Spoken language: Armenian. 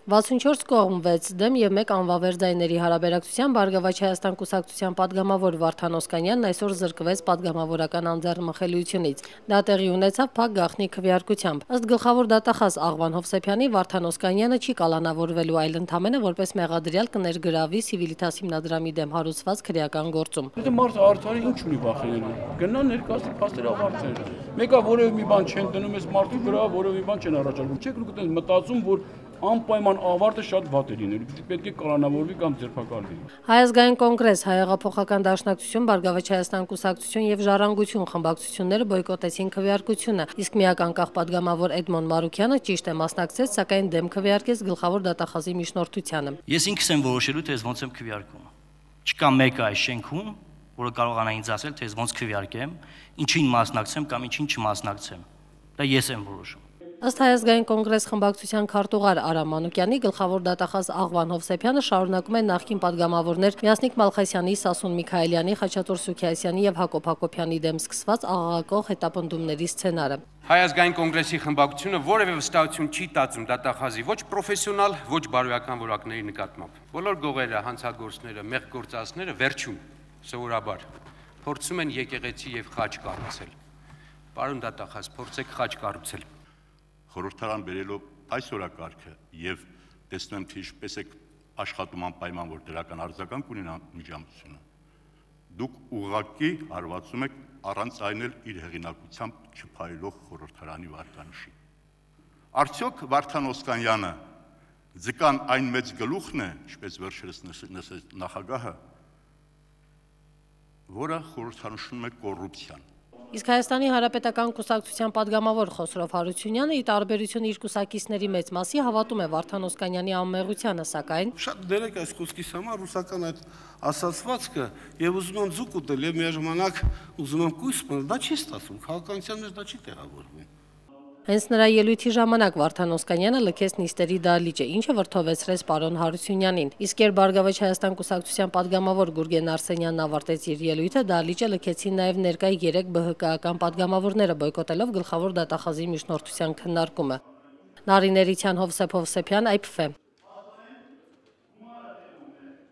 64 կողմ 6 դեմ եւ 1 անվավեր ձայների հարաբերակցությամբ Բարգավաճ Հայաստան կուսակցության падգամավոր Վարդան Օսկանյանն այսօր զրկվեց падգամավորական անձեռնմխելիությունից։ Դա տեղի ունեցավ փակ գաղտնի քվեարկությամբ։ Ըստ գլխավոր դատախազ Աղվան Հովսեփյանի, Վարդան Օսկանյանը չի կալանավորվելու, այլ ընդամենը որպես մեղադրյալ կներգրավի Civitas հիմնադրամի դեմ հարուցված քրեական գործում։ Եթե մարդը արդարի ինչ ունի վախենալու։ Գնա ներկայացնի փաստեր ավարտել։ Մեկը որևէ մի բան չեն դնում, այս մարդու վրա որևէ մի բան չեն առաջարկում։ Չեք լուկտեն մտածում, որ անպայման ավարտը շատ վատ է լինելու, պետք է կալանավորվի կամ ձերբակալվի։ Հայ ազգային կոնգրես, Հայեղափոխական դաշնակցություն, Բարգավաճ Հայաստան կուսակցություն եւ Ժառանգություն խմբակցությունները բոյկոտեցին քվեարկությունը, իսկ միակ անկախ падգամավոր Էդմոն Մարուկյանը ճիշտ է մասնակցեց, սակայն դեմ քվեարկեց գլխավոր դատախազի միջնորդությանը։ Ես ինքս եմ որոշելու, թե ոնց եմ քվեարկում։ Չկա մեկը այս շենքում, որը կարողանա ինձ ասել, թե ոնց քվեարկեմ, ինչին մասնակցեմ կամ ինչին չմասնակցեմ։ Դա ես եմ որոշում։ Ըստ Հայ ազգային կոնգրես խմբակցության քարտուղար Արամ Մանուկյանի, գլխավոր դատախազ Աղվան Հովսեփյանը շարունակում է նախկին падգամավորներ Մյասնիկ Մալխասյանի, Սասուն Միքայելյանի, Խաչատուր Սուքիասյանի եւ Հակոբ Հակոբյանի դեմ սկսված աղաղակող հետապնդումների սցենարը։ Հայ ազգային կոնգրեսի խմբակցությունը որևէ վստահություն չի տածում դատախազի ոչ պրոֆեսիոնալ, ոչ բարոյական որակների նկատմամբ։ Բոլոր գողերը, հանցագործները, մեղգործածները վերջում սովորաբար փորձում են եկեղեցի եւ խաչ կառուցել։ Պարոն դատախազ, փորձեք խաչ կառուցել։ Խորհրդարան բերելով այս օրակարգը եւ տեսնեմ թե ինչպես է աշխատում անպայման որ դրական արձագանք ունենա միջամտությունը դուք ուղղակի հարվածում եք առանց այն էլ իր հեղինակությամբ չփայլող խորհրդարանի վարկանիշին արդյոք Վարդան Օսկանյանը ձկան այն մեծ գլուխն է ինչպես վերջերս նշեց նախագահը որը խորհրդանշում է կոռուպցիան Իսկ Հայաստանի Հանրապետական կուսակցության падգամավոր Խոսրով Հարությունյանը ի տարբերություն իր կուսակիցների մեծ մասի հավատում է Վարդան Օսկանյանի անմեղությանը, սակայն շատ դերեք այս խոսքիս համար ռուսական այդ ասացվածքը եւ ուզում եմ ձուկ ուտել եւ միաժամանակ ուզում եմ կույս մնել, դա չի ստացվում, քաղաքականության մեջ դա չի տեղավորվում։ Հենց նրա ելույթի ժամանակ Վարդան Օսկանյանը լքեց նիստերի դահլիճը, ինչը վրդովեցրեց պարոն Հարությունյանին։ Իսկ երբ Բարգավաճ Հայաստան կուսակցության падգամավոր Գուրգեն Արսենյանն ավարտեց իր ելույթը, դահլիճը լքեցին նաև ներկայ 3 ԲՀԿ-ական падգամավորները, բոյկոտելով գլխավոր դատախազի միջնորդության քննարկումը։ Նարին Էրիցյան, Հովսեփ Հովսեփյան, IPF